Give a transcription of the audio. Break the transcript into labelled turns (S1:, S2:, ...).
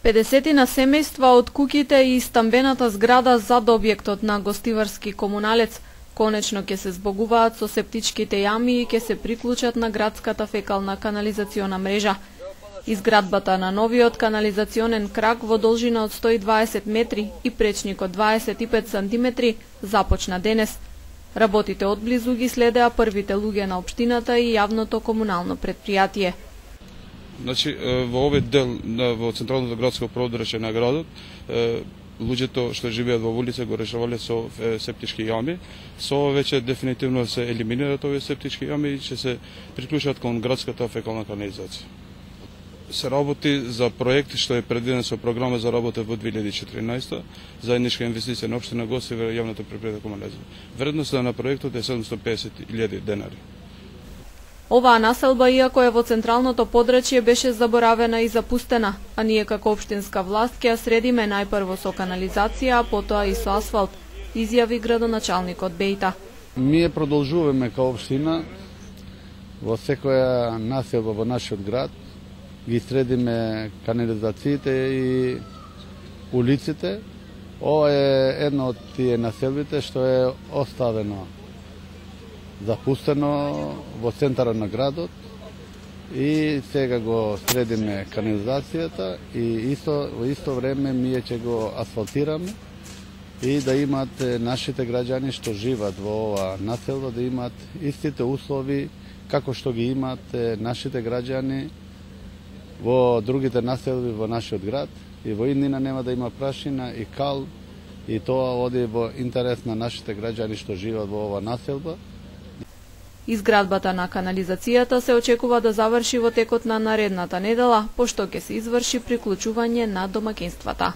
S1: 50 семејства од куќите и стамбената зграда зад објектот на гостиварски комуналец конечно ќе се збогуваат со септичките јами и ќе се приклучат на градската фекална канализациона мрежа. Изградбата на новиот канализационен крак во должина од 120 метри и пречник од 25 сантиметри започна денес. Работите одблизу ги следеа првите луѓе на општината и јавното комунално предпријатие.
S2: Значи, во овој дел во централното градско подрачје на градот, луѓето што живеат во улица го решавале со септички јами. Со ова веќе дефинитивно се елиминираат овие септички јами и ќе се приклучат кон градската фекална канализација. Се работи за проект што е предвиден со програма за работа во 2014, заедничка инвестиција на општина Гостивар и јавното предпријатие комунализм. Вредноста на проектот е 750.000 денари.
S1: Оваа населба, иако е во централното подрачје, беше заборавена и запустена, а ние како општинска власт ќе ја средиме најпрво со канализација, а потоа и со асфалт, изјави градоначалникот Бејта.
S3: Ние продолжуваме као општина во секоја населба во нашиот град, ги средиме канализациите и улиците. Ова е едно од тие населбите што е оставено запустено во центарот на градот и сега го средиме канализацијата и во исто време ние ќе го асфалтираме и да имат нашите граѓани што живеат во ова населба да имат истите услови како што ги имат нашите граѓани во другите населби во нашиот град и во иднина нема да има прашина и кал и тоа оди во интерес на нашите граѓани што живеат во ова населба.
S1: Изградбата на канализацијата се очекува да заврши во текот на наредната недела, пошто ќе се изврши приклучување на домаќинствата.